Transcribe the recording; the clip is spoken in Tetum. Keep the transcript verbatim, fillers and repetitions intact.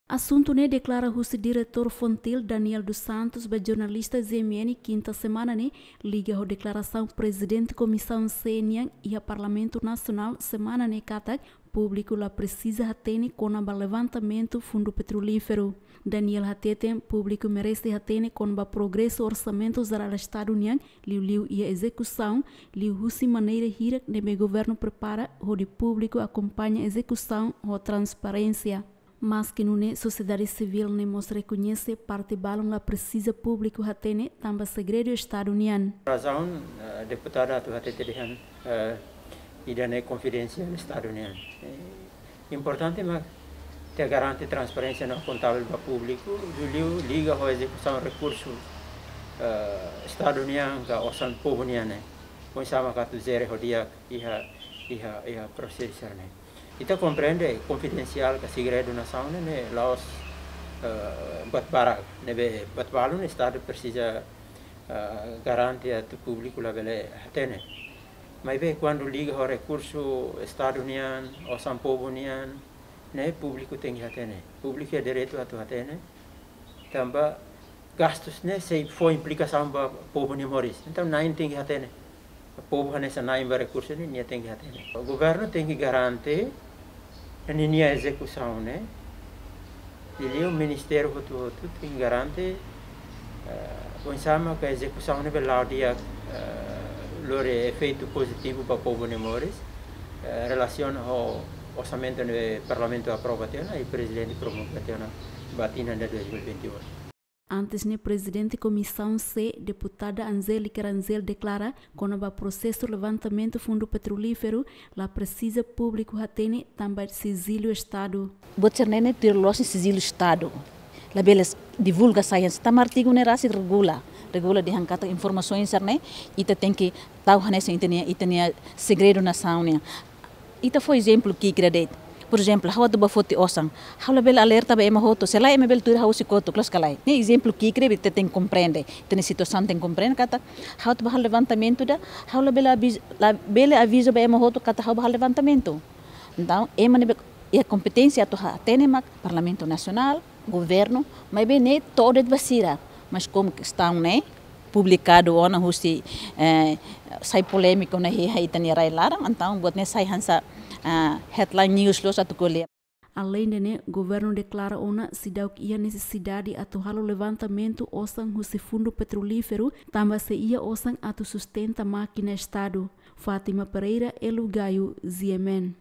Asuntu ne'e deklara husi Diretór Fontil, Daniel dos Santos, ba jornalista G M N kinta semana ne'e, liga ho deklarasaun Prezidente Komisaun C nian iha Parlamentu Nasionál semana ne'e katak públiku la presiza hatene kona-ba levantamentu fundu petrolíferu. Daniel hateten públiku merese hatene kona-ba progresu orsamentu jerál Estadu nian, liuliu iha ezekusaun, liuhusi maneira hirak ne'ebé governu prepara hodi públiku akompaña ezekusaun ho transparénsia. Maski nune'e, sosiedade sivíl ne'e mós rekoñese parte balun la presiza públiku hatene tanba segredu Estadu nian. Razaun, eh, deputada atu hatete dehan, eh, ida-ne'e konfidensiál Estadu nian. Eh, importante mak ita garante transparénsia no akontavel ba públiku, liuliu liga ho ezekusaun rekursu, eh, Estadu nian ka osan povu nian ne'e. Oinsá mak atu jere ho di'ak iha, iha, iha prosesu ne'e. Ita komprende konfidensiál ka segredu nasaun ne'e, ne'e la'ós, eh, buat barak, ne'ebé buat balun Estadu presiza, eh, garante atu públiku labele hatene. Maibé kuandu liga ho rekursu Estadu nian, osan povu nian, ne'e públiku tenke hatene. Públiku iha direitu atu hatene. Tanba gastus ne'e sei fó implikasaun ba povu nia moris. Entaun, na'in tenke hatene. Povu hanesan na'in ba rekursu ne'e, nia tenke hatene. Governu tenke garante ninia ezekusaun ne'e. Liuliu ministériu hotu-hotu tenke garante, eh, oinsá mak ezekusaun ne'e bele la'o di'ak, eh, lori efeitu pozitivu ba povu nia moris, eh, relasiona ho orsamentu ne'ebé Parlamentu aprova tiha ona i Prezidente promulga tiha ona ba tinan ida dois mil e vinte e oito. Antes ne'e, Prezidente Komisaun C, Deputada Angélica Rangel, deklara kona-ba prosesu levantamentu fundu petrolíferu la presiza públiku hatene tanba sijilu Estadu. Buat sira-ne'e ne'e tuir loloos sijilu Estadu. Labele divulga sai hanesan, tanba artigu ne'e rasik regula. Regula dehan katak informasaun sira-ne'e ita tenke tau hanesan ita-nia, ita-nia segredu nasaun nian. Ita fó ezemplu ki'ik ida de'it. Porezemplu, ha'u atu bá foti osan. Ha'u labele alerta ba ema hotu, se lae ema bele tuir ha'u husi kotuk, loos ka lae? Ne'e ezemplu ki'ik ida ita tenke komprende. Ita-nia situasaun tenke komprende katak ha'u atu bá halo levantamentu ida, ha'u labele aviz-, labele aviza ba ema hotu katak ha'u bá halo levantamentu. Entaun, ema ne'ebé iha kompeténsia atu hatene mak Parlamentu Nasionál, governu, maibé ne'e to'o de'it ba sira. Mas komu kestaun ne'e publikadu ona husi, eh, sai polémiku ona iha ita-nia rai laran, entaun buat ne'e sai hanesan, ah, headline news loos atu ko'alia. Aleinde ne'e, governu deklara ona seidauk iha nesesidade atu halo levantamentu osan husi fundu petrolíferu, tanba sei iha osan atu sustenta mákina Estadu. Fátima Pereira, Elo Gayo, G M N.